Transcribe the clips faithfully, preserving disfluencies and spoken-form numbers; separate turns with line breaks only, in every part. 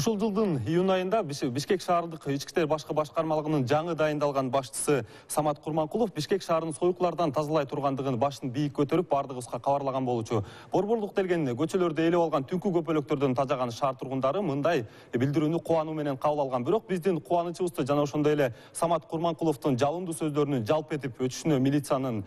Ушул жылдын июнь айында Бишкек шаардык ички иштер башкы башкармалыгынын жаңы дайындалган башчысы Самат Курманкулов Бишкек шаарынын союклардан тазалай тургандыгын башын бийик көтөрүп бардыгыбызга кабарлаган болчу. Борборлук делген көчөлөрдө элеп алган түнкү көпөлөктөрдөн тажаган шаар тургундары мындай билдирүүнү кубануу менен кабыл алган. Бирок биздин кубанычыбызды жана ошондой эле Самат Курманкуловдун жалындуу сөздөрүнүн жалп этип өтүшүнө милициянын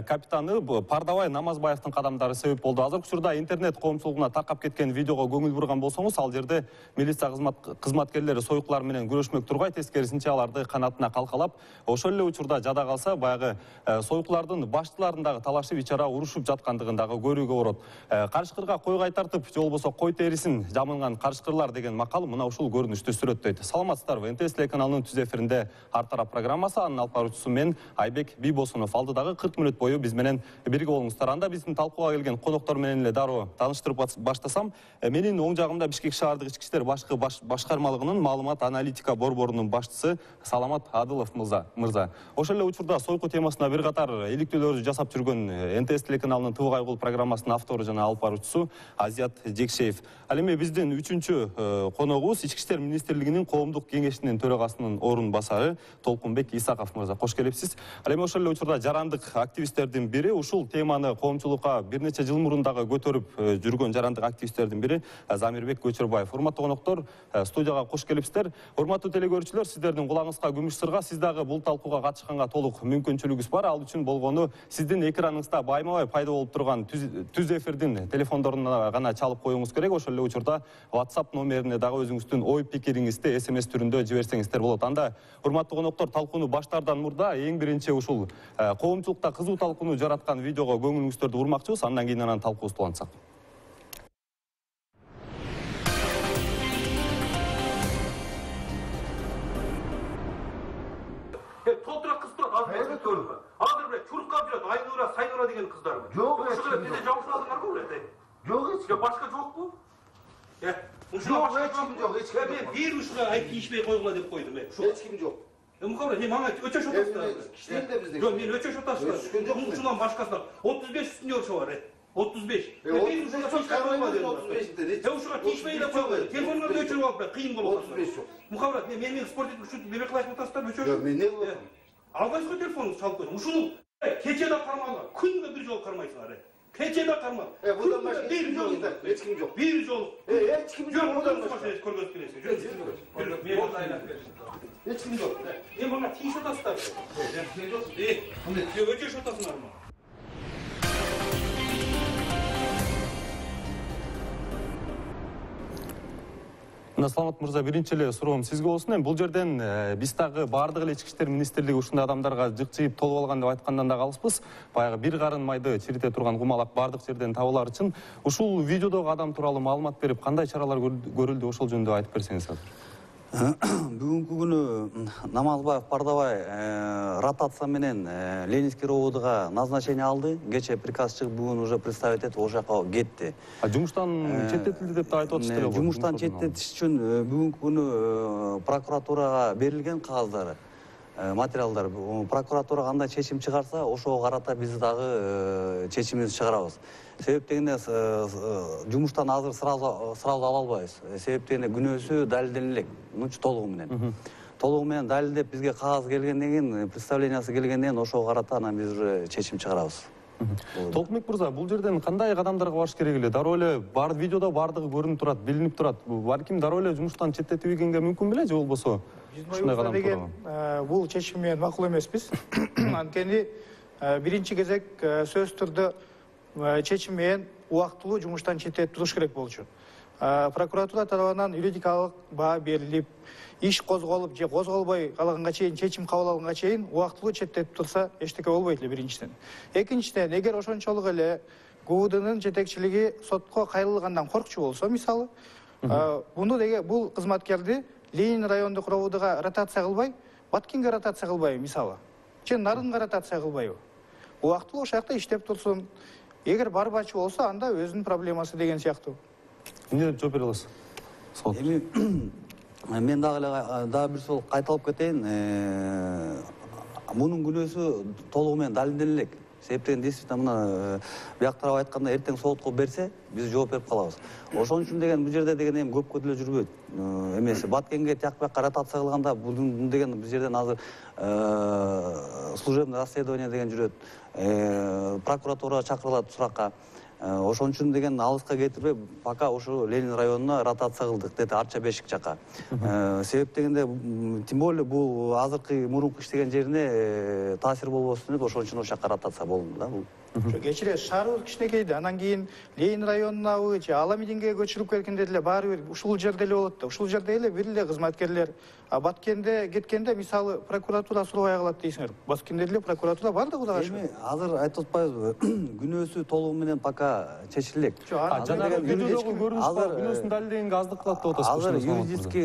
капитаны Пардабай Намазбаевдин кадамдары себеп болду. Азыркы учурда интернет коомчулугуна таркап кеткен видеого көңүл бурган болсоңуз, ал жерде милиция кызматкерлери союклар менен күрөшмөк турбай, тескерисинче аларды канатына калкалап, ошол эле учурда жада калса баягы союклардын баштыларындагы талашып ичара урушуп жаткандыгын дагы көрүүгө болот. Карышкырга кой кайтартып, же болбосо кой терисин жамынган карышкырлар деген макал мына ушул көрүнүштү сүрөттөйт. Саламатсыздарбы? эн тэ эс телеканалынын түз эфиринде Ар тарап программасы, анын алып баруучусу мен Айбек Бийбосунов. Алдыдагы кырк мүнөт бою биз менен бирге болуңуздар. Анда биздин талкууга келген коноктор менен эле дароо тааныштырып баштасам, менин оң жагымда Бишкек шаардык ички иштер башкы башкармалыгынын маалымат аналитика борборунун башчысы Саламат Адылов мырза. Ошол эле учурда сойку темасына бир катар иликтөөлөрдү жасап жүргөн эн тэ эс телеканалынын Тыбык Айгул программасынын автору жана алып баруучусу Азият Жекшеев. Ал эми биздин үчүнчү коногубуз Ички иштер министрлигинин коомдук кеңешинин төрагасынын орун басары Толкунбек Исаков мырза. Кош келипсиз. Ал эми ошол эле учурда жарандык активисттердин бири, ушул теманы коомчулукка бир нече жыл мурун дагы көтөрүп жүргөн жарандык активисттердин бири Замирбек Көчөрбаев. Урматтуу коноктор, студияга кош келипсиздер. Урматтуу телекөрүүчүлөр, сиздердин кулагыңызга күмүш сырга, сиз дагы бул талкууга катышканга толук мүмкүнчүлүгүңүз бар. Ал үчүн болгону сиздин экраныңызда байма-бай пайда болуп турган түз эфирдин телефондоруна гана чалып коюңуз керек. Ошол эле учурда WhatsApp номерине дагы өзүңүздүн ой пикириңизди эс эм эс түрүндө жиберсеңиздер болот. Анда урматтуу коноктор, талкууну баштаардан мурда эң биринчи ушул коомчулукта кызуу талкууну жараткан видеого көңүлүңүздөрдү бурмакчыбыз. Андан кийин анан талкуубузду улантсак.
Толтура кыз турат, азыр көрүнбө. Азыр бир чуркап жүрөт, Айнура, Сайнура деген кыздарбы?
Жок,
ошол бизде жабышкандырларбы булар?
Жок, эч
ким. Башка жокпу? Э,
ушуга эч ким жок, эч ким.
Мен бир ушуга айып тийишпей койгула деп койдум, э.
Эч ким жок.
Э, мукабар, мен мага өчөш отасыздар.
Кичинде бизде.
Жок, мен өчөш отасыздар. Ушундан башкасына отуз беш үстүнө ошо бар, э. отуз беш.
Мен ушуга тийишпей койгула отуз беште.
Э, ушуга тийишпей эле койгула. Телефондорду өчүрүп алып, кыйын болот.
отуз беш жок.
Мукабар, мен менин спорт үчүн бебек кылайын атасыздар, өчөш.
Жок, мен не кылам?
Албайсызбы телефонуңду чалып койдум. Ушуну кече да кармаган, күнгө бир жолу кармайсыңар. Кече да кармак.
Э, будан башка бир жолу да, эч ким жок.
Бир жолу.
Э, эч ким жок, будан башка.
Көргөзүп келесиз. Жүрүп, мен айлап бердим.
Эч ким жок.
Мен мага тийип атасыздар. Мен жок. Э, мындай өчөш атасыңарбы?
Саламат мырза, биринчи эле суроом сизге болсун. Эми бул жерден биз дагы баардык эле ички иштер министрлиги ушундай адамдарга жыкчыйып толуп алган деп айткандан да калыспыз. Баягы бир карын майды чирите турган кумалак баардык жерден табылар үчүн ушул видеодогу адам тууралуу маалымат берип, кандай чаралар көрүлдү, ошол жөнүндө айтып берсеңиз азыр.
Бүгүнкү күнү Намазбаев Пардабай ротация менен Ленинский ровдга назначение алды. Кече приказ чыгып, бүгүн уже представить этип ошол жака кетти.
А жумуштан четтетилди деп да айтып атышты.
Жумуштан четтетиш үчүн бүгүнкү күнү прокуратурага берилген кагаздары, материалдар. Прокуратура кандай чечим чыгарса, ошого карата биз дагы чечимибизди чыгарабыз. Себеп дегенде жумуштан азыр сразу сразу ала албайбыз. Себеп дегенде күнөөсү далилдене элек, мынча толугу менен. Толугу менен далилдеп бизге кагаз келгенден кийин, представлениясы келгенден кийин ошого карата анан биз уже чечим чыгарабыз.
Толкунбек мырза, бул жерден кандай кадамдарга барыш керек эле? Дароо эле бар видеодо бардыгы көрүнүп турат, билинип турат. Балким дароо эле жумуштан четтетилгенге мүмкүн беле, же болбосо ушундай кадам
деген бул чечим менен макул эмеспиз. Анткени биринчи кезек сөзсүз түрдө чечим менен убактылуу жумуштан четтетип туруш керек болчу. Прокуратура тарабынан юридикалык баа берилип, иш козголуп же козголбой калганга чейин, чечим кабыл алганга чейин убактылуу четтетип турса эчтеке болбойт эле биринчиден. Экинчиден, эгер ошончолук эле ГУВДнын жетекчилиги сотко кайрылгандан коркчу болсо, мисалы, муну деге бул кызматкерди Ленин райондук ровдга ротация кылбай, Баткенге ротация кылбайбы, мисалы, же Нарынга ротация кылбайбы? Убактылуу ошол жакта иштеп турсун. Эгер барбачы болсо, анда өзүнүн проблемасы деген сыяктуу.
Эмне деп жооп бере аласыз?
Эми мен дагы эле дагы бир жолу кайталап кетейин. Мунун күнөөсү толугу менен далилдене элек. себептен действительно мына бияк тарап айтканда эртең сотко берсе биз жооп берип калабыз. Ошон үчүн деген бул жерде деген эми көпкө деле жүрбөйт эмеси. Баткенге тияк бияка ротация кылганда бул деген бул жерден азыр служебный расследование деген жүрөт. Прокуратура чакырылат суракка. Ошон үчүн деген алыска кетирбей, пока ошо Ленин районуна ротация кылдык, деди Арча Бешик жака. Себеп дегенде, тем более бул азыркы мурунку иштеген жерине таасир болбосун деп, ошон үчүн ошол жака ротация болду да бул.
Кечиресиз, шаарыбыз кичинекейди, анан кийин Ленин районунабы же Аламединге көчүрүп келгенде деле баары бир ушул жерде эле болот да. Ушул жерде эле бир эле кызматкерлер. А Баткенде кеткенде мисалы прокуратура сурабай калат дейсиңер. Баткенде деле прокуратура бар да Кудайга шүгүр.
Эми азыр айтып атпайбызбы, күнөөсү толугу менен пока чечилек.
Жанагы видеодогу көрүнүш бар, күнөөсүн далилдегенге аздык кылат деп атасызбы?
Азыр юридический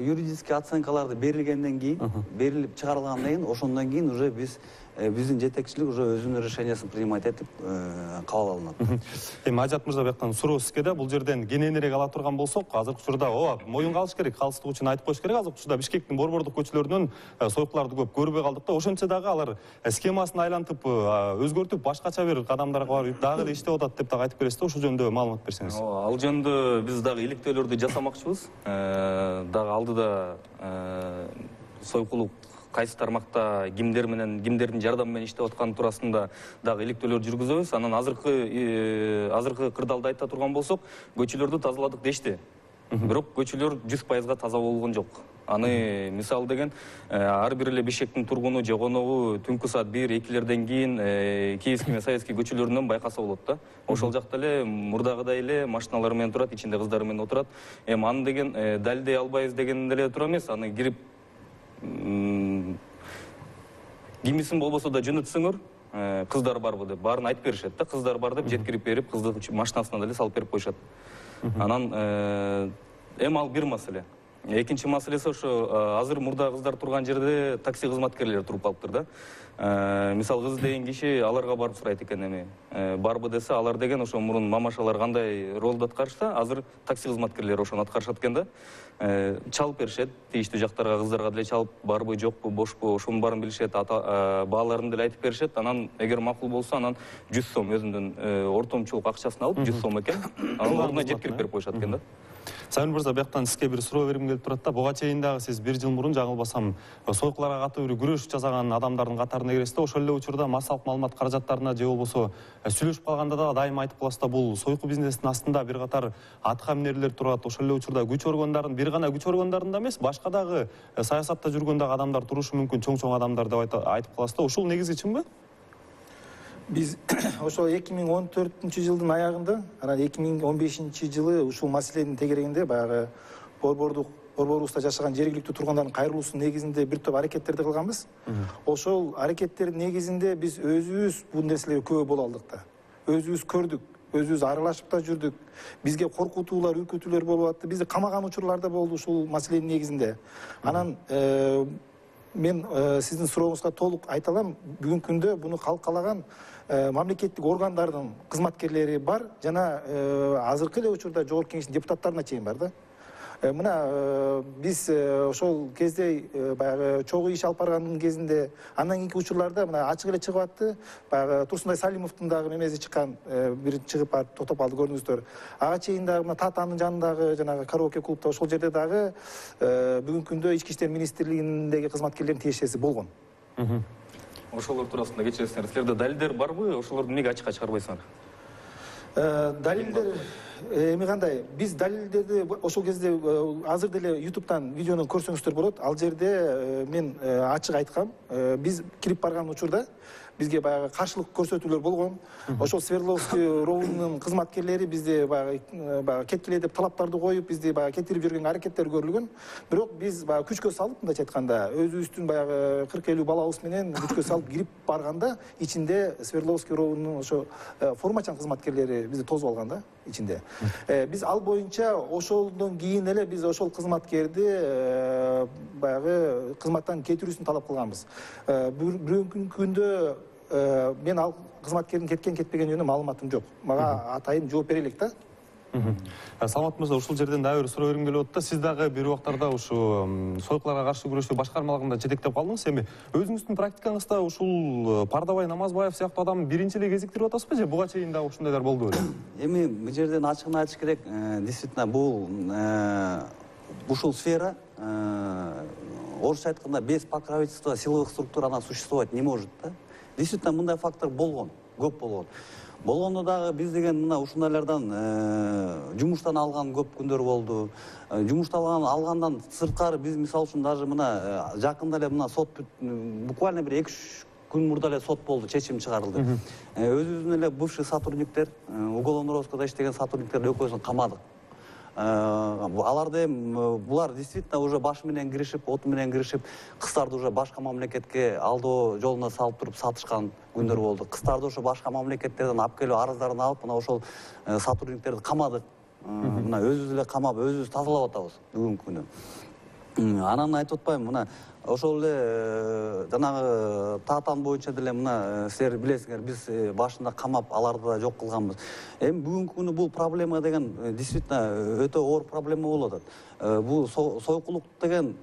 юридический оценкаларды берилгенден кийин, берилип чыгарылгандан кийин, ошондон кийин уже биз биздин жетекчилик уже өзүнүн решениясын принимать этип кабыл алынат.
Эми Ажат мырза бияктан суроо сизге да, бул жерден кененирээк ала турган болсок, азыркы учурда ооба моюнга алыш керек, калыстык үчүн айтып коюш керек. Азыркы учурда Бишкектин борбордук көчөлөрүнөн сойкуларды көп көрбөй калдык да, ошентсе дагы алар схемасын айлантып, өзгөртүп, башкача бир кадамдарга барып дагы эле иштеп атат деп дагы айтып бересиз да, ошол жөнүндө маалымат берсеңиз.
Ооба, ал жөнүндө биз дагы иликтөөлөрдү жасамакчыбыз. Дагы алдыда сойкулук кайсы тармакта кимдер менен, кимдердин жардамы менен иштеп атканы туурасында дагы иликтөөлөр жүргүзөбүз. Анан азыркы азыркы кырдаалда айта турган болсок, көчөлөрдү тазаладык дешти. Бирок көчөлөр жүз пайызга таза болгон жок. Аны мисал деген ар бир эле Бишкектин тургуну же коногу түнкү саат бир экилерден кийин Киевский менен Советский көчөлөрүнөн байкаса болот да. Ошол жакта эле мурдагыдай эле машиналар менен турат, ичинде кыздар менен отурат. Эми аны деген далилдей албайбыз деген деле туура эмес. Аны кирип кимисин болбосо да жөнөтсөңөр, кыздар барбы деп баарын айтып беришет да, кыздар бар деп жеткирип берип, кыздын машинасына деле салып берип коюшат. Анан эми ал бир маселе. Экинчи маселеси ошо азыр мурда кыздар турган жерде такси кызматкерлери туруп калыптыр да. Мисал кыз деген киши аларга барып сурайт экен, эми барбы десе, алар деген ошо мурун мамашалар кандай ролду аткарышта, азыр такси кызматкерлери ошону аткарышат экен да. Чалып беришет, тийиштүү жактарга кыздарга деле чалып, барбы, жокпу, бошпу, ошонун баарын билишет, бааларын деле айтып беришет. Анан эгер макул болсо, анан жүз сом өзүнүн ортомчулук акчасын алып, жүз сом экен, анын ордуна жеткирип берип коюшат экен да.
Сайын мырза, бияктан сизге бир суроо бергим келип турат да. Буга чейин дагы сиз бир жыл мурун, жаңылбасам, сойкуларга катуу бир күрөш жасаган адамдардын катарына киресиз да. Ошол эле учурда массалык маалымат каражаттарына же болбосо сүйлөшүп калганда да дайыма айтып каласыз да, бул сойку бизнесинин астында бир катар аткаминерлер турат. Ошол эле учурда күч органдарын, бир гана күч органдарында эмес, башка дагы саясатта жүргөн дагы адамдар турушу мүмкүн, чоң-чоң адамдар деп айтып каласыз да. Ушул негизи чынбы?
Биз ошо эки миң он төртүнчү жылдын аягында, анан эки миң он бешинчи жылы ушул маселенин тегерегинде баягы борбордук борборубузда жашаган жергиликтүү тургундардын кайрылуусунун негизинде бир топ аракеттерди кылганбыз. Ошол аракеттердин негизинде биз өзүбүз бул нерселерге күбө боло алдык да. Өзүбүз көрдүк, өзүбүз аралашып да жүрдүк. Бизге коркутуулар, үркүтүүлөр болуп атты. Бизди камаган учурлар да болду ушул маселенин негизинде. Анан мен сиздин сурооңузга толук айта алам. Бүгүнкү күндө буну калкалаган мамлекеттик органдардын кызматкерлери бар, жана азыркы эле учурда жогорку кеңештин депутаттарына чейин бар да. Мына биз ошол кезде баягы чогуу иш алып баргандын кезинде, андан кийинки учурларда мына ачык эле чыгып атты. Баягы Турсунбай Салимовдун дагы мемеси чыккан, бир чыгып барып токтоп калды, көрдүңүздөр. Ага чейин дагы мына Татанын жанындагы жанагы караоке клубда, ошол жерде дагы бүгүнкү күндө Ички иштер министрлигиндеги кызматкерлердин тиешеси болгон.
Ошолор туурасында кечиресиңер, силерде далилдер барбы? Ошолорду эмнеге ачыкка чыгарбайсыңар?
Далилдер эми кандай? Биз далилдерди ошол кезде азыр деле ютубтан видеону көрсөңүздөр болот. Ал жерде мен ачык айткам. Биз кирип барган учурда бизге баягы каршылык көрсөтүүлөр болгон. Ошол Свердловский роунун кызматкерлери бизди баягы баягы кеткиле деп талаптарды коюп, бизди баягы кетирип жүргөн аракеттер көрүлгөн. Бирок биз баягы күчкө салып, мындайча айтканда, өзүбүздүн баягы кырк элүү балабыз менен күчкө салып кирип барганда, ичинде Свердловский роунун ошо формачан кызматкерлери бизди тосуп алган да ичинде. Биз ал боюнча ошондон кийин эле биз ошол кызматкерди баягы кызматтан кетирүүсүн талап кылганбыз. Бүгүнкү күндө мен ал кызматкердин кеткен кетпеген жөнүндө маалыматым жок. Мага атайын жооп бере элек да.
Саламат мырза, ушул жерден дагы бир суроо бергим келип атат да. Сиз дагы бир убактарда ушу сойкуларга каршы күрөшүү башкармалыгында жетектеп калдыңыз. Эми өзүңүздүн практикаңызда ушул Пардабай Намазбаев сыяктуу адамды биринчи эле кезиктирип атасызбы же буга чейин дагы ушундайлар болду беле?
Эми бул жерден ачыгын айтыш керек, действительно бул ушул сфера, орусча айтканда, без покровительства силовых структур она существовать не может, да? Действительно мындай фактор болгон, көп болгон. Болгондо дагы биз деген мына ушундайлардан жумуштан алган көп күндөр болду. Жумуштан алгандан сырткары биз мисалы үчүн даже мына жакында эле мына сот буквально бир эки үч күн мурда эле сот болду, чечим чыгарылды. Өзүбүздүн эле бывший сотрудниктер, уголовный розыскада иштеген сотрудниктерди экөөсүн камадык. Аларды эми булар действительно уже баш менен киришип, от менен киришип, кыздарды уже башка мамлекетке алдоо жолуна салып туруп сатышкан күндөр болду. Кыздарды ошо башка мамлекеттерден алып келип арыздарын алып, мына ошол сотрудниктерди камадык. Мына өзүбүз эле камап, өзүбүз тазалап атабыз бүгүнкү күнү. Анан айтып атпаймынбы, мына ошол эле жанагы таатан боюнча деле мына силер билесиңер, биз башында камап аларды да жок кылганбыз. Эми бүгүнкү күнү бул проблема деген действительно өтө оор проблема болуп атат. Бул сойкулук деген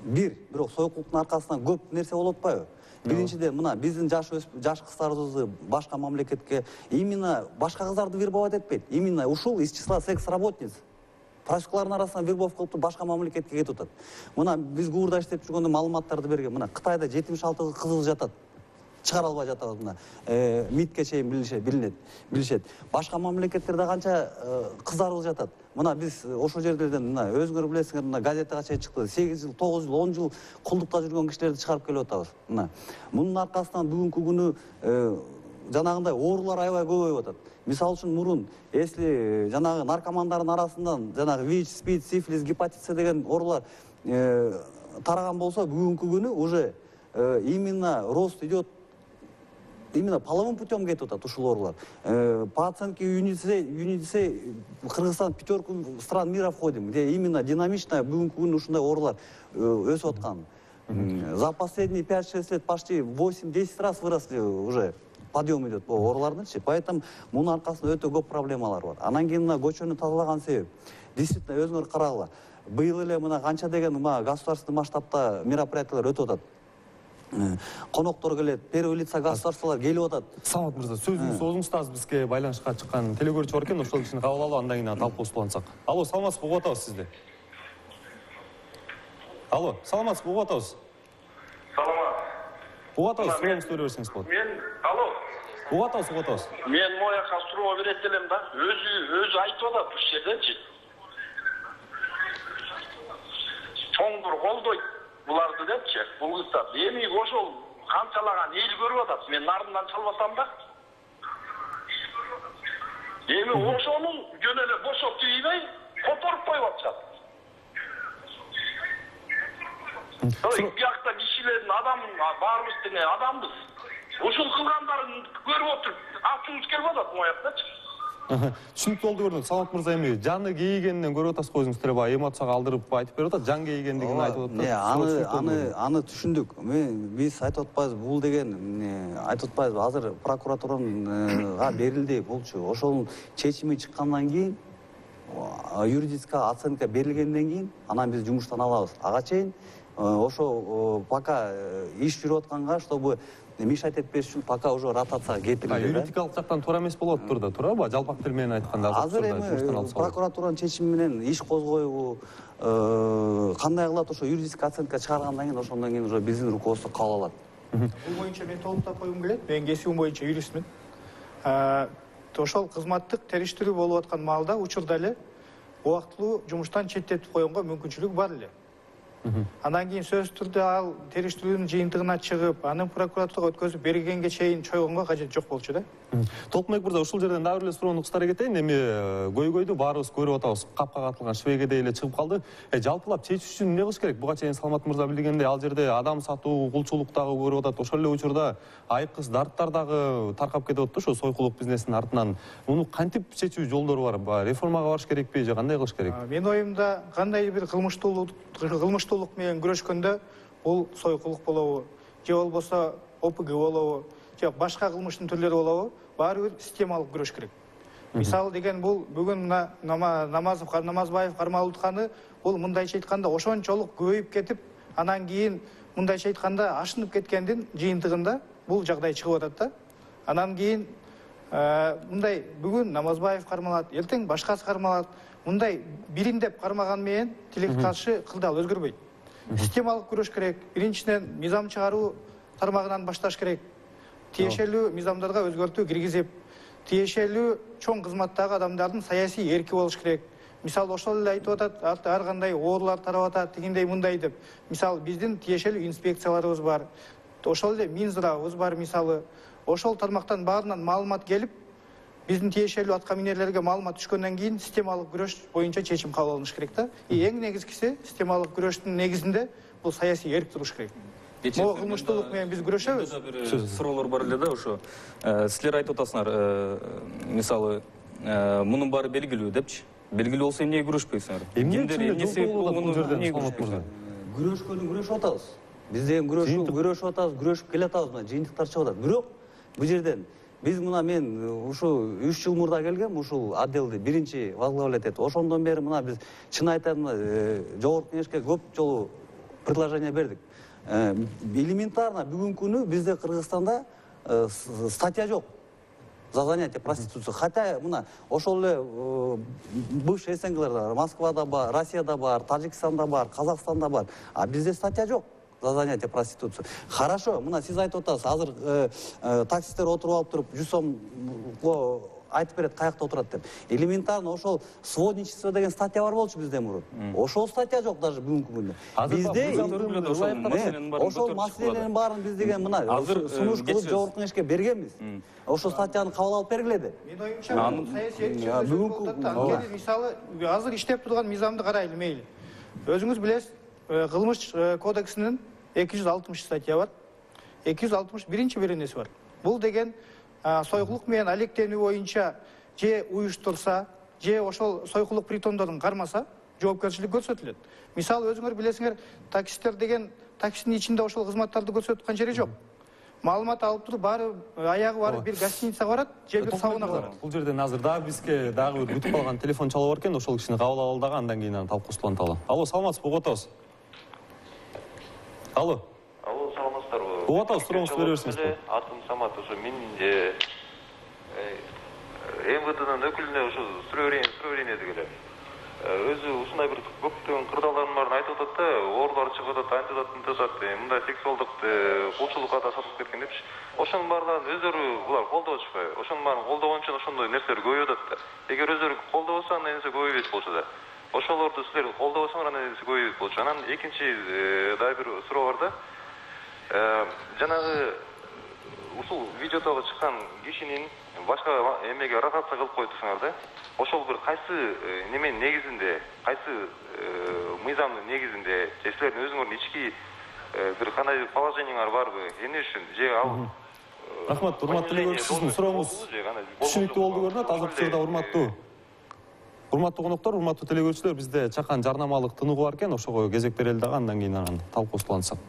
бир, бирок сойкулуктун аркасынан көп нерсе болуп атпайбы? Биринчиден мына биздин жаш жаш кыздарыбызды башка мамлекетке именно башка кыздарды вербовать этпейт. Именно ушул из числа секс-работниц. Профессорлардын арасынан вербовка кылып башка мамлекетке кетип атат. Мына биз Гуурда иштеп жүргөндө маалыматтарды берген. Мына Кытайда жетимиш алты кызыл жатат. Чыгара албай жатабыз мына. МИДке чейин билинет, билишет. Башка мамлекеттерде канча кыздарыбыз жатат. Мына биз ошол жерлерден мына өзүңөр билесиңер, мына газетага чейин чыкты. сегиз жыл, тогуз жыл, он жыл кулдукта жүргөн кишилерди чыгарып келип атабыз. Мына мунун аркасынан бүгүнкү күнү жанагындай оорулар аябай көбөйүп атат. Мисалы үчүн мурун, если жанагы наркомандардын арасынан жанагы ВИЧ, СПИД, сифилис, гепатит С деген оорулар тараган болсо, бүгүнкү күнү уже именно рост идет, именно половым путем кетип атат ушул оорулар. По оценке ЮНИСЕФ, Кыргызстан пятерку стран мира входим, где именно динамично бүгүнкү күнү ушундай оорулар өсүп аткан. За последние пять-шесть лет почти восемь-десять раз выросли уже. Подъем идет по оорулардынчы. Поэтому мунун аркасында өтө көп проблемалар бар. Анан кийин мына көчөнү тазалаган себеп. Действительно өзүңөр карагыла. Быйыл эле мына канча деген мына государственный масштабта мероприятиялар өтүп атат. Коноктор келет, первый лица государстволор келип атат.
Самат мырза, сөзүңүз өзүңүз да бизге байланышка чыккан телекөрүүчү бар экен, ошол кишини кабыл алып, андан кийин талкуулансак. Алло, саламатсызбы, угуп атабыз сизди. Алло, саламатсызбы, угуп атабыз.
Саламат.
Угуп атабыз, сурооңузду бере берсеңиз болот.
Мен, алло.
Угуп атабыз, угуп атабыз.
Мен мояка суроо берет элем да. Өзү өзү айтып атат ушул жерденчи. Чоңдур колдойт буларды депчи, бул кыздарды. Эми ошол канчалаган эл көрүп атат. Мен нардымдан чалып атам да. Эми ошонун жөн эле бошоп тийбей, которуп коюп атышат. Биякта кишилердин адам, баарыбыз тене адамбыз. Ушул кылгандарын көрүп отуруп, ачуубуз келип атат мояктачы.
Түшүнүктүү болду, көрдүк. Саламат мырза, эми жаны кейигенинен көрүп атасыз го, өзүңүз деле эмоцияга алдырып айтып берип атат, жан кейигендигин айтып атат.
Аны аны аны түшүндүк. Биз айтып атпайбыз, бул деген айтып атпайбыз. Азыр прокуратурага берилди булчу. Ошол чечими чыккандан кийин, юридическая оценка берилгенден кийин, анан биз жумуштан алабыз. Ага чейин ошо пока иш жүрүп атканга, чтобы мешать этпеш үчүн пока уже ротацияга кетирилди.
Юридикалык жактан туура эмес болуп атыптыр да, туурабы? Жалпак тил менен айтканда
азыр эми прокуратуранын чечими менен иш козгойбу, кандай кылат, ошо юридическая оценка чыгаргандан кийин, ошондон кийин уже биздин руководство кабыл алат.
Бул боюнча мен толуктап койгум келет. Мен кесибим боюнча юристмин. Ошол кызматтык териштирүү болуп аткан маалда учурда эле убактылуу жумуштан четтетип койгонго мүмкүнчүлүк бар эле. Андан кийин сөзсүз түрдө ал териштирүүнүн жыйынтыгына чыгып, анын прокуратурага өткөзүп бергенге чейин чойгонго кажет жок болчу да.
Толкунбек мырза, ушул жерден дагы бир эле суроону кыстара кетейин. Эми көйгөйдү баарыбыз көрүп атабыз, капка катылган швегедей эле чыгып калды. Жалпылап чечиш үчүн эмне кылыш керек? Буга чейин Саламат мырза билгендей, ал жерде адам сатуу, кулчулук дагы көрүп атат. Ошол эле учурда айкыз дарттар дагы таркап кетип атат, ошо сойкулук бизнесинин артынан. Муну кантип чечүү жолдору бар? Реформага барыш керекпи же кандай кылыш керек?
Менин оюмда, кандай бир кылмыштуулук кылмыштуулук менен күрөшкөндө бул сойкулук болобу, же болбосо ОПГ болобу, же башка кылмыштын түрлөрү болобу, баары бир системалык күрөш керек. Мисалы деген бул бүгүн мына Намазов Намазбаев кармалытканы бул мындайча айтканда ошончолук көбөйүп кетип, анан кийин мындайча айтканда ашынып кеткендин жыйынтыгында бул жагдай чыгып атат да. Анан кийин мындай бүгүн Намазбаев кармалат, эртең башкасы кармалат. Мындай бирин деп кармаган менен тилекке каршы кылдал өзгөрбөйт. Системалык күрөш керек. Биринчиден мыйзам чыгаруу тармагынан башташ керек. Тиешелүү мыйзамдарга өзгөртүү киргизип, тиешелүү чоң кызматтагы адамдардын саясий эрки болуш керек. Мисалы ошол эле айтып атат, ар кандай оорулар тарап атат, тигиндей мындай деп. Мисалы биздин тиешелүү инспекцияларыбыз бар. Ошол эле Минздравыбыз бар мисалы. Ошол тармактан баарынан маалымат келип, биздин тиешелүү атка минерлерге маалымат түшкөндөн кийин системалык күрөш боюнча чечим кабыл алыныш керек да. И эң негизгиси системалык күрөштүн негизинде бул саясий эрк туруш керек. Могу кылмыштуулук менен биз күрөшөбүз.
Суроолор бар эле да ошо. Силер айтып атасыңар, мисалы, мунун баары белгилүү депчи. Белгилүү болсо эмнеге күрөшпөйсүңөр?
Эмнеге муну жерден Салмат мырза?
Күрөшкөнү күрөшүп атабыз. Биз деген күрөшүп атабыз, күрөшүп келе атабыз, мына жыйынтыктар чыгып атат. Бирок бул жерден биз мына мен ушу үч жыл мурда келгем, ушул отделди биринчи возглавлять этип. Ошондон бери мына биз чын айтам, жогорку кеңешке көп жолу предложение бердик. Элементарно бүгүнкү күнү бизде Кыргызстанда статья жок за занятие проституцией. Хотя мына ошол эле бывший СНГларда бар, Москвада бар, Россияда бар, Тажикстанда бар, Казакстанда бар. А бизде статья жок за занятие проституцией. Хорошо, мына сиз айтып атасыз, азыр таксисттер отуруп алып туруп жүз сом айтып берет каякта отурат деп. Элементарно ошол сводничество деген статья бар болчу бизде мурун. Ошол статья жок даже бүгүнкү күндө. Бизде ошол маселелердин баарын биз деген мына сунуш кылып жогорку кеңешке бергенбиз. Ошол статьяны кабыл алып бергиле.
Менин оюмча саясий бүгүнкү мисалы азыр иштеп турган мыйзамды карайлы мейли. Өзүңүз билесиз, кылмыш кодексинин эки жүз алтымыш статья бар. эки жүз алтымыш биринчи беренеси бар. Бул деген сойкулук менен алектенүү боюнча же уюштурса, же ошол сойкулук притондорун кармаса, жоопкерчилик көрсөтүлөт. Мисалы өзүңөр билесиңер, таксисттер деген таксинин ичинде ошол кызматтарды көрсөткөн жери жок. Маалымат алып туруп, баары аягы барып бир гостиницага барат, же бир саунага барат.
Бул жерден азыр дагы бизге дагы бир күтүп калган телефон чалып бар экен, ошол кишини кабыл алалы дагы, андан кийин аны талкуусун уланталы. Алло, саламатсызбы, угуп атабыз. Алло.
Алло, саламатсыздарбы?
Угуп атабыз, сурооңузду бере берсиңиз.
Атым Самат, ошо мен эм вэ дэнын өкүлүнө ошо суроо берейин эле. Өзү ушундай бир көптөгөн кырдаалдардын баарын айтып атат да, оорулар чыгып атат, антип атат, мынтип атат, мындай сексуалдык кулчулукка да сатып кеткен депчи. Ошонун баардыгын өздөрү булар колдобочпайбы? Ошонун баарын колдогон үчүн ошондой нерселер көбөйүп атат да. Эгер өздөрү колдобосо андай нерсе көбөйбөйт болчу да. Ошолорду силер колдобосоңор андай нерсе көбөйбөйт болчу. Анан экинчи дагы бир суроо бар да. Жанагы ушул видеодогу чыккан кишинин башка эмеге рахатса кылып коюп турсуңар да. Ошол бир кайсы неменин негизинде, кайсы мыйзамдын негизинде, же силердин өзүңөрдүн ички бир кандай положениеңер барбы? Эмне үчүн? Же ал
Рахмат, урматтуу делегечи, сиздин сурооңуз түшүнүктүү болду көрүнөт. Азыр учурда урматтуу урматтуу коноктор, урматтуу делегечилер, бизде чакан жарнамалык тыныгуу бар экен, ошого кезек берели дагы, андан кийин анан талкуусун улантсак.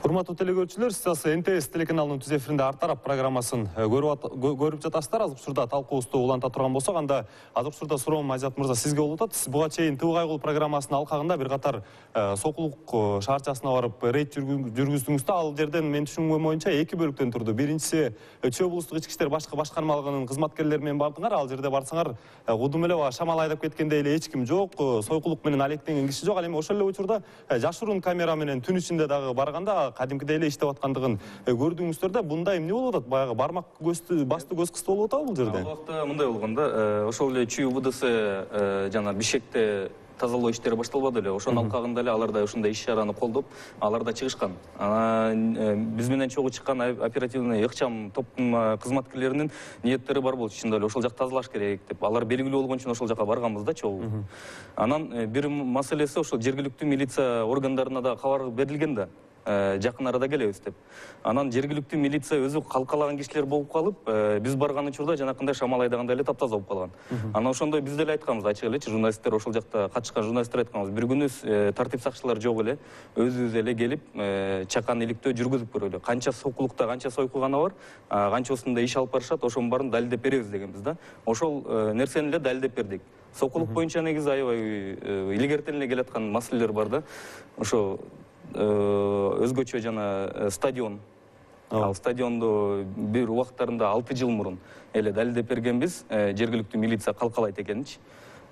Урматтуу телекөрүүчүлөр, сиз эн тэ эс телеканалынын түз эфиринде Ар тарап программасын көрүп жатасыздар. Азыр учурда талкуубузду уланта турган болсок, анда азыр учурда суроом Айзат мырза сизге болуп атат. Сиз буга чейин Тыбыл Кайгыл программасынын алкагында бир катар сокулук шаарчасына барып рейд жүргүздүңүз да. Ал жерден мен түшүнгөнүм боюнча эки бөлүктөн турду. Биринчиси Чүй облустук ички иштер башкы башкармалыгынын кызматкерлери менен бардыңар. Ал жерде барсаңар, кудум эле шамал айдап кеткендей эле эч ким жок, сойкулук менен алектенген киши жок. Ал эми ошол эле учурда жашыруун камера менен түн ичинде дагы барганда кадимкидей эле иштеп аткандыгын көрдүңүздөр да. Бунда эмне болуп атат? Баягы бармак көздү басты көз кысты болуп атабы бул жерде?
Ал убакта мындай болгон да, ошол эле Чүй вэ дэ эс жана Бишкекте тазалоо иштери башталбады эле. Ошонун алкагында эле алар да ушундай иш-чараны колдоп, алар да чыгышкан. Анан биз менен чогуу чыккан оперативный ыкчам топтун кызматкерлеринин ниеттери бар болчу. Чындап эле ошол жак тазалаш керек деп. Алар белгилүү болгон үчүн ошол жака барганбыз да чогуу. Анан бир маселеси ошол жергиликтүү милиция органдарына да кабар берилген да. жакын арада келебиз деп. Анан жергиликтүү милиция өзү калкалаган кишилер болуп калып, биз барган учурда жанакындай шамал айдагандай эле таптаза болуп калган. Анан ошондой биз деле айтканбыз, ачык элечи, журналисттер, ошол жакта катышкан журналисттер айтканбыз. Бир күнү тартип сакчылар жок эле, өзүбүз эле келип, чакан иликтөө жүргүзүп көрөлү. Канча сокулукта, канча сойкугана бар, канчасында иш алып барышат, ошонун баарын далилдеп беребиз дегенбиз да. Ошол нерсени эле далилдеп бердик. Сокулук боюнча негизи аябай илгертен эле келаткан маселелер бар да. Ошо өзгөчө жана стадион. Ал стадионду бир убактарында алты жыл мурун эле далилдеп бергенбиз, жергиликтүү милиция калкалайт экеничи.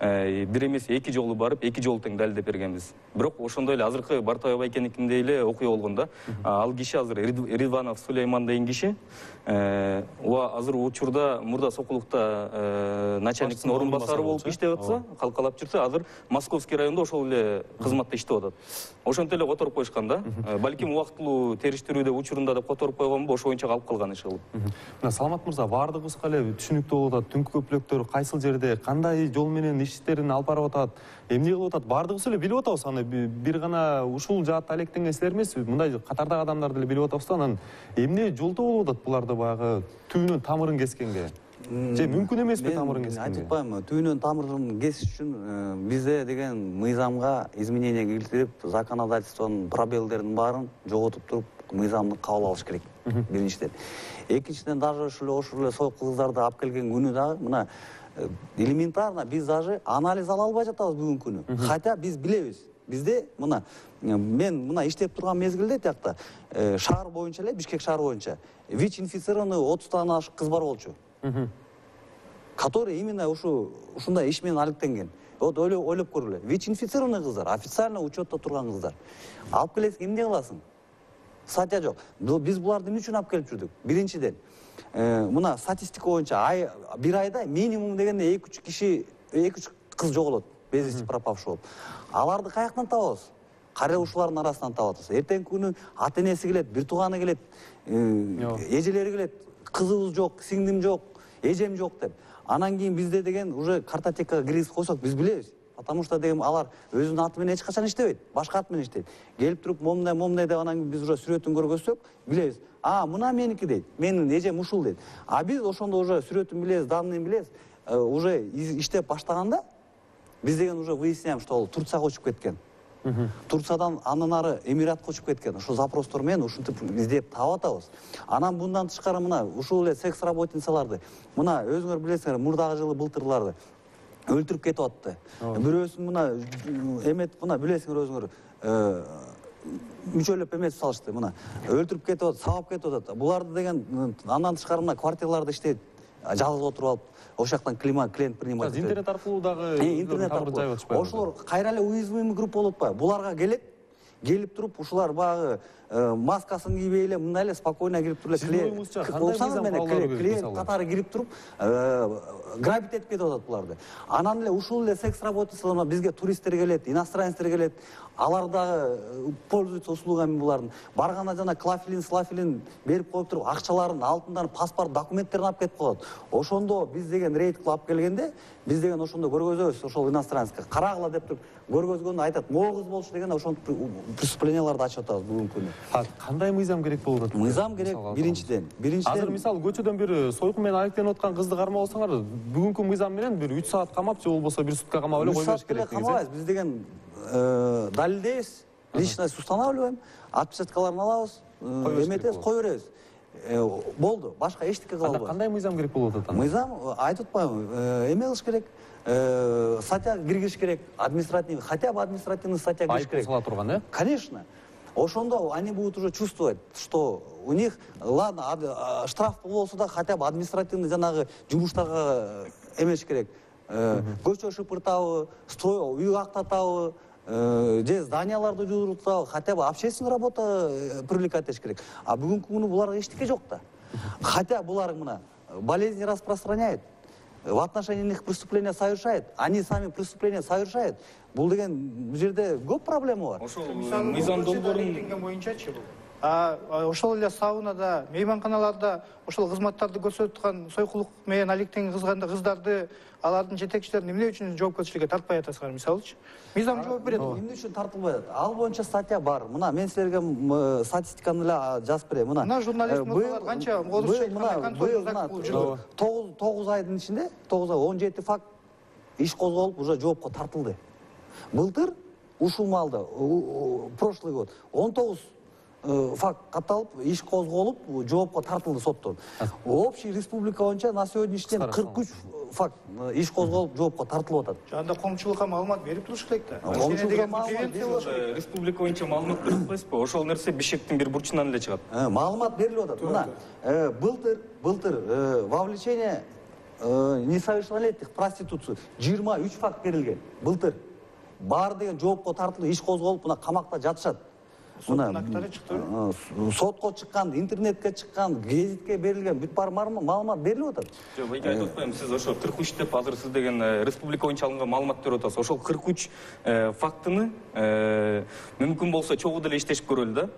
Бир эмес эки жолу барып, эки жолу тең далилдеп бергенбиз. Бирок ошондой эле азыркы Бартабай Байкеникиндей эле окуя болгон да. Ал киши азыр Ридванов Сулейман деген киши. Уа азыр учурда мурда Сокулукта начальниктин орун басары болуп иштеп атса, калкалап жүрсө, азыр Московский районда ошол эле кызматта иштеп атат. Ошентип эле которуп коюшкан да. Балким убактылуу териштирүүдө учурунда деп которуп койгонбу, ошо боюнча калып калган иш кылып.
Мына Саламат мырза, баардыгыбызга эле түшүнүктүү болуп атат. Түнкү көпүлөктөр кайсыл жерде, кандай жол менен иштерин алып барып атат, эмне кылып атат, баардыгыбыз эле билип атабыз. Аны бир гана ушул жаатта алектенген силер эмес, мындай катардагы адамдар деле билип атабыз да. Анан эмне жолдо болуп атат буларды баягы түбүнөн тамырын кескенге? Же мүмкүн эмеспи тамырын кескенге?
Мен айтып атпаймынбы, түбүнөн тамырын кесиш үчүн бизде деген мыйзамга изменение келтирип, законодательствонун пробелдерин баарын жоготуп туруп, мыйзамды кабыл алыш керек. Биринчиден. Экинчиден, даже ошол эле сойку кыздарды алып келген күнү дагы мына элементарно биз даже анализ ала албай жатабыз бүгүнкү күнү. Хотя биз билебиз. Бизде мына мен мына иштеп турган мезгилде тиякта шаар боюнча эле, Бишкек шаары боюнча ВИЧ инфицированный отуздан ашык кыз бар болчу. Который именно ушу ушундай иш менен алектенген. Вот ойлоп көргүлө. ВИЧ инфицированный кыздар, официально учетто турган кыздар. Алып келесиң, эмне кыласың? Статья жок. Биз буларды эмне үчүн алып келип жүрдүк? Биринчиден, мына статистика боюнча ай бир айда минимум дегенде эки үч киши, эки үч кыз жоголот, без вести пропавший болуп. Аларды каяктан табабыз? Кароочулардын арасынан табабыз. Эртеңки күнү ата энеси келет, бир тууганы келет, эжелери келет, кызыбыз жок, сиңдим жок, эжем жок деп. Анан кийин бизде деген уже картотекага киргизип койсок биз билебиз. Потому что деген алар өзүнүн аты менен эч качан иштебейт, башка ат менен иштейт. Келип туруп момундай момундай деп анан биз уже сүрөтүн көргөзсөк, билебиз. А, мына меники дейт. Менин эжем ушул дейт. А биз ошондо уже сүрөтүн билебиз, данныйын билебиз. Уже иштеп баштаганда биз деген уже выясняем, что ал Турцияга учуп кеткен. Турциядан андан ары Эмиратка учуп кеткен. Ошо запростор менен ушинтип издеп таап атабыз. Анан мындан тышкары мына ушул эле секс работницаларды, мына өзүңөр билесиңер, мурдагы жылы былтырларды өлтүрүп кетип атты. Бирөөсүн мына эмет, мына билесиңер өзүңөр, мүчөлөп эмет салышты, мына өлтүрүп кетип атат, сабап кетип атат. Буларды деген андан тышкары мына квартираларда иштейт, жалгыз отуруп алып, ошол жактан клиент принимать.
Интернет аркылуу дагы
интернет аркылуу. Ошолор кайра эле уязвимый группа болуп атпайбы? Буларга келет, келип туруп ушулар баягы маскасын кийбей эле мындай эле спокойно кирип туруп эле клиент катары кирип туруп грабить этип кетип атат буларды. Анан эле ушул эле секс работницалар бизге туристтер келет, иностранецтер келет. Алар дагы пользуются услугами булардын. Барганда жана клафелин, слафелин берип коюп туруп, акчаларын, алтындарын, паспорт, документтерин алып кетип коет. Ошондо биз деген рейд кылып алып келгенде, биз деген ошондо көргөзөбүз, ошол иностранецке карагыла деп туруп көргөзгөндө айтат, могуз болчу деген ошол преступленияларды ачып атабыз бүгүнкү күнү.
Кандай мыйзам керек болуп атат?
Мыйзам керек биринчиден. Биринчиден
азыр мисалы көчөдөн бир сойку менен алектенип аткан кызды кармап алсаңар, бүгүнкү мыйзам менен бир үч саат камап, же болбосо бир сутка камап эле койбош керек деген.
Камабайбыз, биз деген далилдейбиз, личность устанавливаем, отпечаткаларын алабыз, эметебиз, кое беребиз. Болду, башка эчтеке кыла албайбыз.
Кандай мыйзам керек болуп атат?
Мыйзам айтып атпаймынбы, эме кылыш керек, статья киргизиш керек, административный, хотя бы административный статья киргизиш керек.
Айыппул сала турган, э?
Конечно. Ошондо они будут уже чувствовать, что у них, ладно, штраф болсо да хотя бы административный жанагы жумуштарга эмеш керек. Көчө шыпыртабы, строй, үй актатабы, же зданияларды жуудуртабы, хотя бы общественный работа привлекать этиш керек. А бүгүнкү күнү буларга эчтеке жок да. Хотя булар мына болезни распространяет, в отношении них преступления совершает, они сами преступления совершают. Бул деген бул жерде көп проблема бар.
Ошол мыйзам долбоорун
боюнчачы бул. ошол эле саунада, мейманканаларда ошол кызматтарды көрсөтүп аткан сойкулук менен алектенген кыздарды, алардын жетекчилерин эмне үчүн жоопкерчиликке тартпай атасыңар, мисалычы? Мыйзам жооп берет.
Эмне үчүн тартылбай атат? Ал боюнча статья бар. Мына мен силерге статистиканы эле жазып берем. Мына.
Мына журналист мырзалар канча орусча айтканда контроль
жүргүзүп жүрдү. тогуз айдын ичинде, тогуз ай он жети факт иш козголуп, уже жоопко тартылды. Былтыр ушул маалда, прошлый год он тогуз факт катталып, иш козголуп, жоопко тартылды соттон. Общий республика боюнча на сегодняшний день кырк үч факт иш козголуп, жоопко тартылып атат.
Жанда коомчулукка маалымат берип туруш керек да.
Коомчулукка маалымат берип,
республика боюнча маалымат берип атпайсызбы? Ошол нерсе Бишкектин бир бурчунан эле чыгат.
Маалымат берилип атат. Мына, былтыр, былтыр вовлечение несовершеннолетних в проституцию жыйырма үч факт берилген. Былтыр бар деген жоопко тартылып, иш козголуп, мына камакта жатышат. Мына сотко чыккан, интернетке чыккан, гезитке берилген бүт бар маалымат берилип атат.
Жок, мен айтып атпайм, сиз ошо кырк үч деп азыр сиз деген республика боюнча алынган маалымат берип атасыз. Ошол кырк үч фактыны мүмкүн болсо чогуу деле иштешип көрөлү да.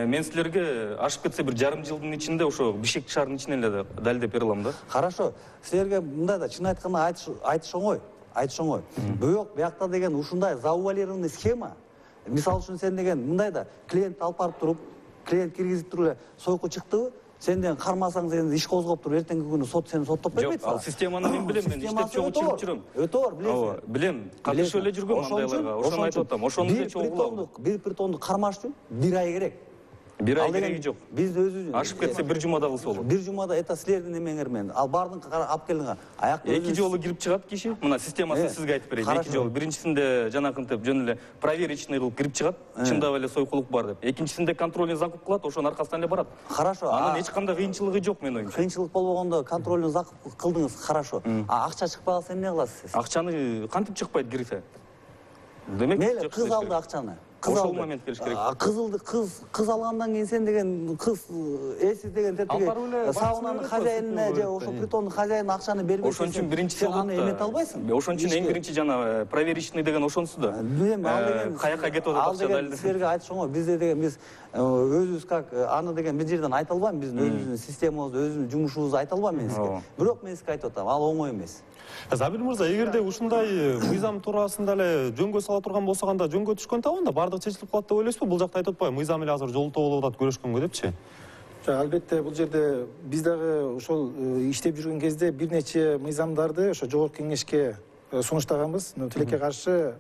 Мен силерге ашып кетсе бир жарым жылдын ичинде ошо Бишкек шаарынын ичинен эле далилдеп бере алам да.
Хорошо. Силерге мындай да чын айтканда айтыш оңой, айтыш оңой. Бирок биякта деген ушундай завуалированный схема. Мисалы үчүн сен деген мындай да клиент алып барып туруп, клиент киргизип туруп эле сойку чыктыбы, сенден кармасаң сен иш козгоп туруп, эртеңки күнү сот сени соттоп бербейт.
Жок, ал системаны мен билем, мен иштеп чогуу чыгып жүрөм.
Өтө бар, билесиң.
Билем, катышып эле жүргөм андайларга. Ошону айтып атам. Ошону эле чогуу.
Бир притонду кармаш үчүн бир ай керек.
Бир ай кереги жок.
Биз өзүбүз
ашып кетсе бир жумада кылса болот.
Бир жумада это силердин эмеңер менен. Ал бардын алып келдиңер. Аякта
эки жолу кирип чыгат киши. Мына системасын сизге айтып берейин. Эки жолу. Биринчисинде жанакынтип жөн эле проверочный кылып кирип чыгат. Чындап эле сойкулук бар деп. Экинчисинде контрольный закуп кылат, ошонун аркасынан эле барат.
Хорошо.
Анан эч кандай кыйынчылыгы жок менин оюмча.
Кыйынчылык болбогондо контрольный закуп кылдыңыз, хорошо. А акча чыкпай калса эмне кыласыз?
Акчаны кантип чыкпайт кирсе? Демек,
мейли, кыз алды акчаны.
Ошол момент келиш керек.
Кызылды кыз кыз алгандан кийин сен деген кыз эсиз деген тетиги саунанын хозяинине же ошол притондун хозяинine акчаны бербей
ошон үчүн биринчи сен
аны эмете албайсың.
Ошон үчүн эң биринчи жана проверочный деген ошонусу да.
Билем, ал деген
каяка кетип атат акча
дайыл. Силерге айтыш оңой. Бизде деген биз өзүбүз как аны деген бир жерден айта албайм. Биздин өзүбүздүн системабызды, өзүбүздүн жумушубузду айта албайм мен сизге. Бирок мен сизге айтып атам, ал оңой эмес.
Забир мырза, эгерде ушундай мыйзам туурасында эле жөнгө сала турган болсок, анда жөнгө түшкөн табанда бардык чечилип калат деп ойлойсузбу? Бул жакта айтып атпайбы, мыйзам эле азыр жолтоо болуп атат көрүшкөнгө депчи?
Жок, албетте бул жерде биз дагы ошол иштеп жүргөн кезде бир нече мыйзамдарды ошо жогорку кеңешке сунуштаганбыз. Но тилекке каршы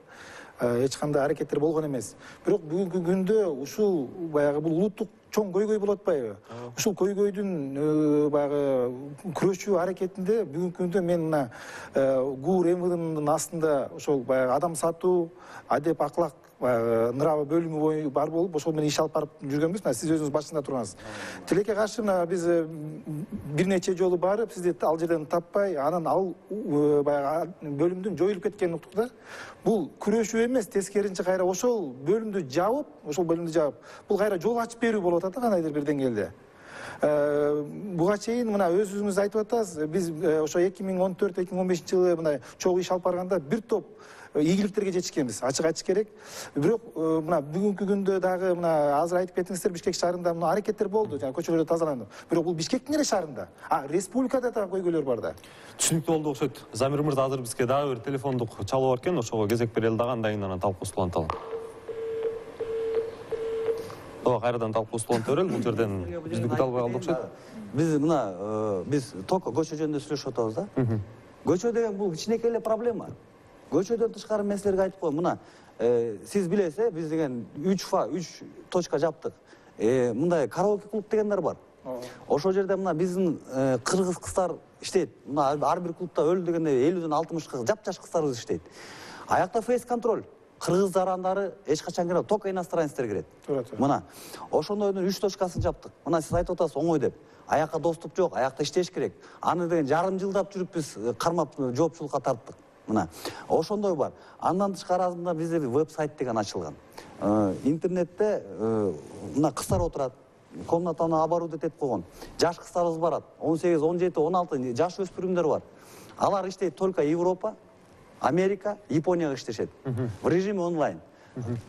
эч кандай аракеттер болгон эмес. Бирок бүгүнкү күндө ушул баягы бул улуттук чоң көйгөй болуп атпайбы? Ушул көйгөйдүн баягы күрөшүү аракетинде бүгүнкү күндө мен мына ГУР МВДнын астында ошол баягы адам сатуу, адеп аклак нрава бөлүмү бар болуп, ошол менен иш алып барып жүргөнбүз. Мына сиз өзүңүз башында тургансыз. Тилекке каршы мына биз бир нече жолу барып, сизди ал жерден таппай, анан ал баягы бөлүмдүн жоюлуп кеткенин уктук да. Бул күрөшүү эмес, тескерисинче кайра ошол бөлүмдү жабып, ошол бөлүмдү жабып, бул кайра жол ачып берүү болуп атат да кандайдыр бир деңгээлде. Буга чейин мына өзүңүз айтып атасыз, биз ошо эки миң он төрт эки миң он бешинчи жылы мына чогуу иш алып барганда бир топ ийгиликтерге жетишкенбиз, ачык айтыш керек. Бирок мына бүгүнкү күндө дагы мына азыр айтып кеттиңиздер, Бишкек шаарында мына аракеттер болду, жана көчөлөрдү тазаланды. Бирок бул Бишкектин эле шаарында, а республикада да көйгөйлөр бар да.
Түшүнүктүү болду окшойт. Замир мырза, азыр бизге дагы бир телефондук чалуу бар экен, ошого кезек берели дагы, андан кийин анан талкуубузду уланталы. Ооба, кайрадан талкуубузду уланта берели, бул жерден бизди күтө албай калды окшойт.
Биз мына биз только көчө жөнүндө сүйлөшүп атабыз да. Көчө деген бул кичинекей эле проблема. Көчөдөн тышкары мен силерге айтып коеюн, мына сиз билесиз, биз деген үч фа үч точка жаптык. Мындай караоке клуб дегендер бар. Ошол жерде мына биздин кыргыз кыздар иштейт. Мына ар бир клубта өлү дегенде элүүдөн алтымышка жапжаш кыздарыбыз иштейт. Аякта фейс контроль. Кыргыз жарандары эч качан кирет, только иностранецтер кирет. Мына ошондойдун үч точкасын жаптык. Мына сиз айтып атасыз оңой деп. Аякка доступ жок, аякта иштеш керек. Аны деген жарым жылдап жүрүп биз кармап жооптчулукка тарттык. Мына ошондой бар. Андан тышкарысында бизде веб-сайт деген ачылган. Интернетте мына кыздар отурат, комнатаны оборудовать этип койгон. Жаш кыздарыбыз барат. он сегиз, он жети, он алты жаш өспүрүмдөр бар. Алар иштейт только Европа, Америка, Японияга иштешет. В режиме онлайн.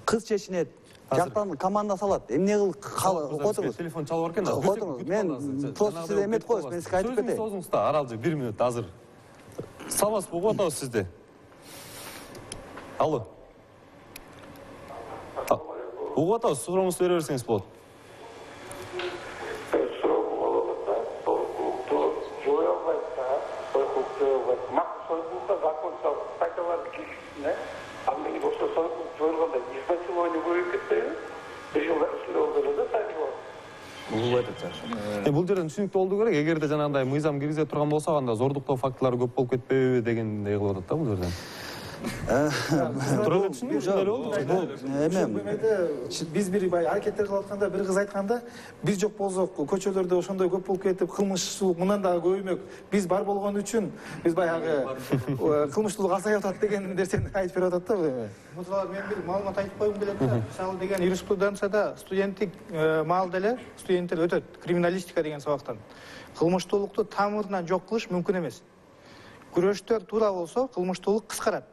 Кыз чечинет, жактан команда салат. Эмне кыл отуруңуз.
Телефон чалып экен.
Отуруңуз. Мен просто сизде эметип коебуз. Мен сизге айтып кетейин.
Сөзүңүз да Аралжы бир минут азыр. Саламатсыз, угуп атабыз сизди. Алло. Угуп атабыз, сурооңузду бере берсеңиз болот. Бул жерден түшүнүктүү болду керек. Эгерде жанагындай мыйзам киргизе турган болсо, анда зордуктоо фактылары көп болуп кетпейби дегендей кылып атат да бул жерден. Туура эле түшүндүм, ушундай эле болду.
Эме биз бир бай аракеттер кылып атканда бир кыз айтканда, биз жок болсок көчөлөрдө ошондой көп болуп кетип, кылмышчылык мындан дагы көбөймөк. Биз бар болгон үчүн биз баягы кылмыштуулук азайып атат деген нерсени айтып берип атат да.
Бул тууралуу мен бир маалымат айтып койгум келет да. Мисалы деген юриспруденцияда студенттик маалда эле студенттер өтөт криминалистика деген сабактан. Кылмыштуулукту тамырынан жок кылыш мүмкүн эмес. Күрөштөр туура болсо кылмыштуулук кыскарат.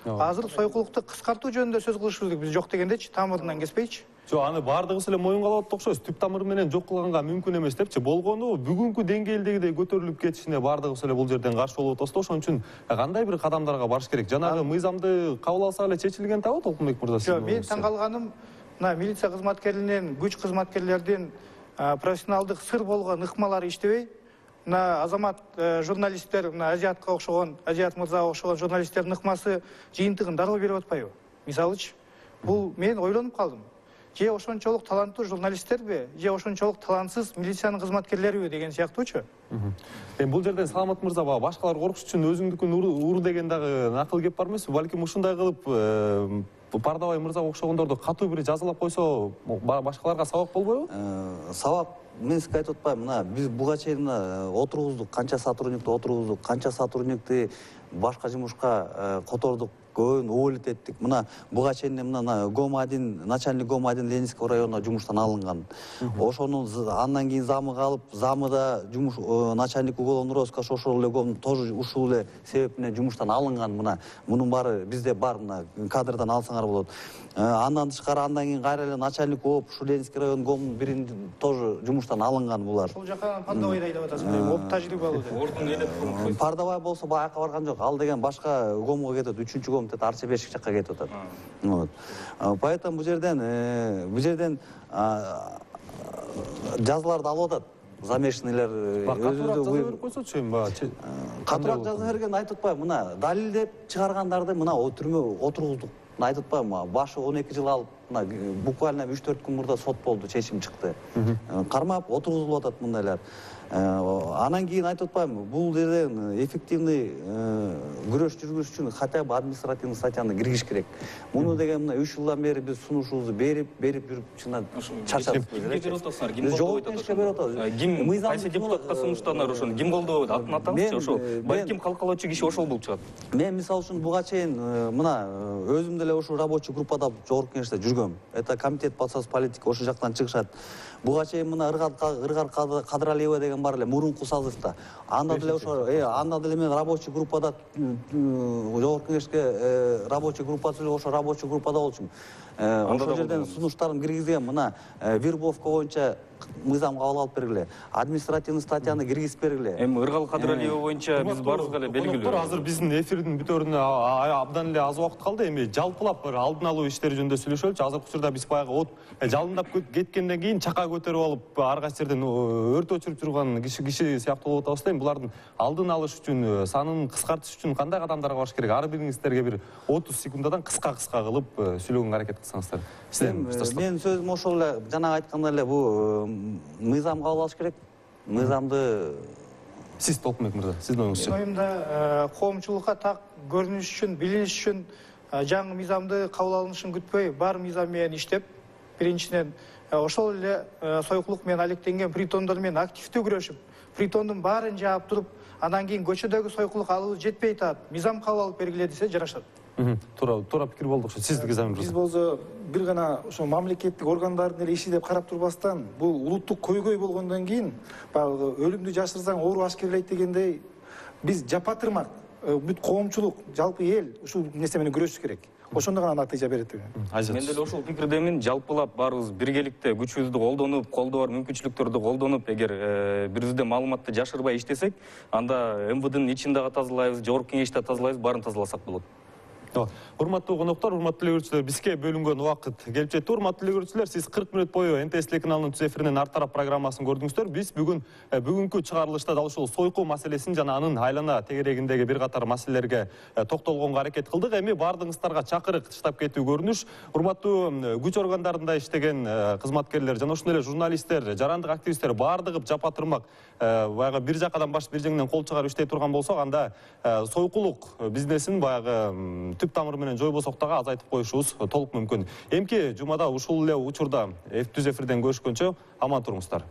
Азыр сойкулукту кыскартуу жөнүндө сөз кылышыбыз керек. Биз жок дегендечи, тамырынан кеспейчи.
Жок, аны баардыгыбыз эле моюнга алып окшойбуз. Түп тамыры менен жок кылганга мүмкүн эмес депчи. Болгону бүгүнкү деңгээлдегидей көтөрүлүп кетишине баардыгыбыз эле бул жерден каршы болуп атабыз да. Ошон үчүн кандай бир кадамдарга барыш керек? Жанагы мыйзамды кабыл алсак эле чечилген табы Толкунбек мырза?
Жок, мен таң калганым мына милиция кызматкерлеринин, күч кызматкерлердин профессионалдык сыр болгон ыкмалары иштебей, мына азамат журналисттер, мына Азиатка окшогон, Азиат мырзага окшогон журналисттердин ыкмасы жыйынтыгын дароо берип атпайбы? Мисалычы, бул мен ойлонуп калдым. Же ошончолук таланттуу журналисттерби, же ошончолук талантсыз милициянын кызматкерлериби деген сыяктуучу.
Эми бул жерден Саламат мырза бага башкалар коркуш үчүн өзүңдүкүн ур деген дагы накыл кеп бар эмеспи? Балким ушундай кылып Пардабай мырзага окшогондорду катуу бир жазалап койсо, башкаларга сабак болбойбу?
Сабак мен сизге айтып атпайбы, мына биз буга чейин отургуздук, канча сотрудникти отургуздук, канча сотрудникти башка жумушка котордук, көбүн уволить эттик. Мына буга чейин мына гом один, начальник гом один Ленинский районуна жумуштан алынган. Ошонун андан кийин замы калып, замы да жумуш начальник уголовный розыска ошол эле гом тоже ушул эле себеп менен жумуштан алынган. Мына мунун баары бизде бар, мына кадрдан алсаңар болот. Андан тышкары андан кийин кайра эле начальник болуп, ушул Ленинский район гомдун бирин тоже жумуштан алынган булар.
Ошол жака Пардабайды айдап атасызбы? Оп тажрыйбалуу деп.
Ордун элеп
Пардабай болсо баягы барган жок. Ал деген башка гомго кетет, үчүнчү гом деп Арчебешик жакка кетип атат. Вот. Поэтому бул жерден бул жерден жазаларды алып атат. Замешанныйлар
өзүндө берип койсочу эми баягы.
Катуураак жаза берген айтып атпайбы? Мына далилдеп чыгаргандарды мына түрмө отургуздук. Айтып атпайбы? Башы он эки жыл алып, мына буквально үч төрт күн мурда сот болду, чечим чыкты. Кармап отургузулуп атат мындайлар. Анан кийин айтып атпаймынбы? Бул жерден эффективный күрөш жүргүзүш үчүн хотя бы административный статьяны киргизиш керек. Муну деген мына үч жылдан бери биз сунушубузду берип, берип жүрүп чындан чарчадык.
Кимге берип атасыңар? Ким колдоп атат? Ким кайсы депутатка сунуштанар ошону? Ким колдоп атат? Атын атаңызчы ошол. Балким калкалоочу киши ошол болуп чыгат.
Мен мисалы үчүн буга чейин мына өзүм деле ушул рабочий группада жогорку кеңеште жүргөм. Это комитет по соцполитике ошол жактан чыгышат. Буга чейин мына Ыргар Кадралиева деген бар эле мурунку созывда. Анда деле ошо, э, анда деле мен рабочий группада жогорку кеңешке рабочий группасы ошо рабочий группада болчумун. Ошол жерден сунуштарын киргизген, мына вербовка боюнча мыйзам кабыл алып бергиле. Административный статьяны киргизип бергиле.
Эми Ыргал Кадралиева боюнча биз барыбызга эле белгилүү.
Азыр биздин эфирдин бүтөрүнө абдан эле аз убакыт калды. Эми жалпылап бир алдын алуу иштери жөнүндө сүйлөшөлүчү. Азыркы учурда биз баягы от жалындап кеткенден кийин чака көтөрүп алып ар кайсы жерден өрт өчүрүп турган киши киши сыяктуу болуп атабыз да. Эми булардын алдын алыш үчүн, санын кыскартыш үчүн кандай кадамдарга барыш керек? Ар бириңиздерге бир отуз секундадан кыска-кыска кылып сүйлөгөнгө аракет кылсаңыздар.
Мен сөзүм ошол эле жана айткандай эле бул мыйзам кабыл алыш керек. Мыйзамды
сиз Толкунбек мырза, сиздин оюңузчу.
Оюмда коомчулукка так көрүнүш үчүн, билиниш үчүн жаңы мыйзамды кабыл алынышын күтпөй, бар мыйзам менен иштеп, биринчиден ошол эле сойкулук менен алектенген притондор менен активдүү күрөшүп, притондун баарын жаап туруп, андан кийин көчөдөгү сойкулук алыбыз жетпей атат. Мыйзам кабыл алып бергиле десе жарашат.
Туура, туура пикир болду окшойт. Сиздики Замир мырза.
Биз болсо бир гана ошо мамлекеттик органдардын эле иши деп карап турбастан, бул улуттук көйгөй болгондон кийин баягы өлүмдү жашырсаң оору ашкерлейт дегендей, биз жапа тырмак бүт коомчулук, жалпы эл ушул нерсе менен күрөшүш керек. ошондо гана натыйжа берет деп.
Мен деле ошол пикирдемин. Жалпылап баарыбыз биргеликте күчүбүздү колдонуп, колдо бар мүмкүнчүлүктөрдү колдонуп, эгер бирибизде маалыматты жашырбай иштесек, анда эм вэ дэнин ичин дагы тазалайбыз, жогорку кеңешти тазалайбыз, баарын тазаласак болот.
Урматтуу коноктор, урматтуу эле көрүүчүлөр, бизге бөлүнгөн убакыт келип жетти. Урматтуу эле көрүүчүлөр, сиз кырк мүнөт бою эн тэ эс телеканалынын түз эфиринен Ар тарап программасын көрдүңүздөр. Биз бүгүн бүгүнкү чыгарылышта дал ушул сойку маселесин жана анын айлана тегерегиндеги бир катар маселелерге токтолгонго аракет кылдык. Эми баардыгыңыздарга чакырык тыштап кетүү көрүнүш. Урматтуу күч органдарында иштеген кызматкерлер жана ошондой эле журналисттер, жарандык активисттер баардыгы жапа тырмак баягы бир жакадан баш бир жеңинен кол чыгарып иштей турган болсок, анда сойкулук бизнесин баягы түп тамыры менен жойбосок дагы азайтып коюшубуз толук мүмкүн. Эмки жумада ушул эле учурда түз эфирден көрүшкөнчө аман туруңуздар.